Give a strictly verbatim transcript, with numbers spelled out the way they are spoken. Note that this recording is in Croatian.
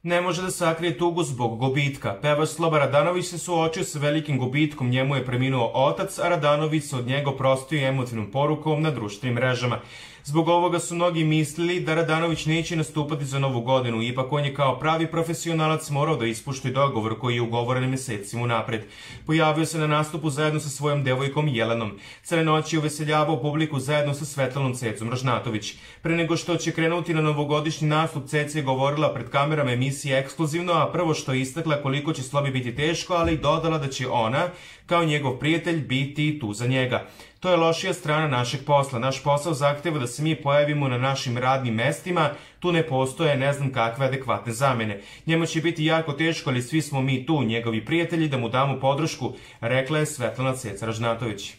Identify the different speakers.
Speaker 1: Ne može da sakrije tugu zbog gubitka. Pevač Sloba Radanović se suočio sa velikim gubitkom, njemu je preminuo otac, a Radanović se od njega oprostio emotivnom porukom na društvenim mrežama. Zbog ovoga su mnogi mislili da Radanović neće nastupati za novu godinu, ipak on je kao pravi profesionalac morao da ispušti dogovor koji je ugovoren mesecima unapred. Pojavio se na nastupu zajedno sa svojom devojkom Jelenom. Cele noći je uveseljavao publiku zajedno sa Svetlanom Cecom Ražnatović. Pre nego što će krenuti na novogodišnji nastup, Ceca je govorila pred kamerama emisije Ekskluzivno, a prvo što je istakla koliko će Slobi biti teško, ali i dodala da će ona, kao njegov prijatelj, biti tu za njega. To je lošija strana našeg posla. Naš posao zahteva da se mi pojavimo na našim radnim mestima, tu ne postoje ne znam kakve adekvatne zamene. Njemu će biti jako teško, ali svi smo mi tu, njegovi prijatelji, da mu damo podršku, rekla je Svetlana Ceca Ražnatović.